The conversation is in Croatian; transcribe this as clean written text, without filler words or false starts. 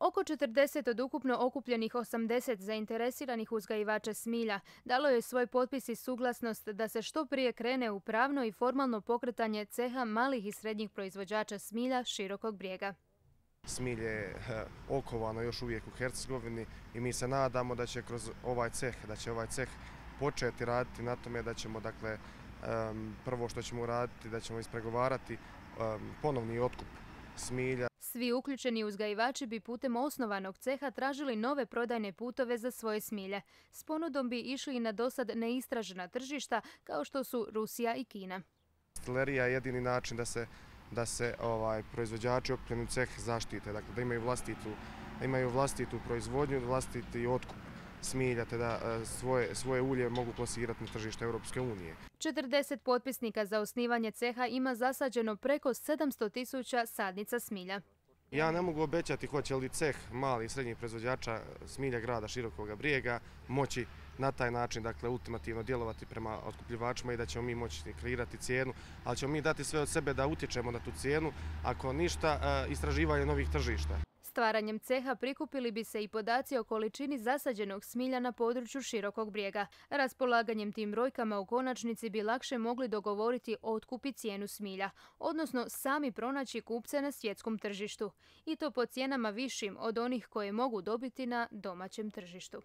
Oko 40 od ukupno okupljenih 80 zainteresiranih uzgajivača smilja dalo je svoj potpis i suglasnost da se što prije krene u pravno i formalno pokretanje ceha malih i srednjih proizvođača smilja Širokog Brijega. Smilje je okovano još uvijek u Hercegovini i mi se nadamo da će kroz ovaj ceh početi raditi na tome da ćemo, dakle, prvo što ćemo uraditi, da ćemo ispregovarati ponovni otkup smilja. Svi uključeni uzgajivači bi putem osnovanog ceha tražili nove prodajne putove za svoje smilje. S ponudom bi išli i na dosad neistražena tržišta kao što su Rusija i Kina. Destilerija je jedini način da se proizvođači okupljeni u ceh zaštite, dakle da imaju vlastitu proizvodnju, vlastiti otkup smilja, te da svoje ulje mogu plasirati na tržište Europske unije. 40 potpisnika za osnivanje ceha ima zasađeno preko 700.000 sadnica smilja. Ja ne mogu obećati hoće li ceh malih i srednjih proizvođača smilja grada Širokog Brijega moći na taj način, dakle, ultimativno djelovati prema otkupljivačima i da ćemo mi moći kreirati cijenu, ali ćemo mi dati sve od sebe da utječemo na tu cijenu, ako ništa, istraživanje novih tržišta. Stvaranjem ceha prikupili bi se i podaci o količini zasađenog smilja na području Širokog Brijega. Raspolaganjem tim brojkama u konačnici bi lakše mogli dogovoriti otkup i cijenu smilja, odnosno sami pronaći kupce na svjetskom tržištu. I to po cijenama višim od onih koje mogu dobiti na domaćem tržištu.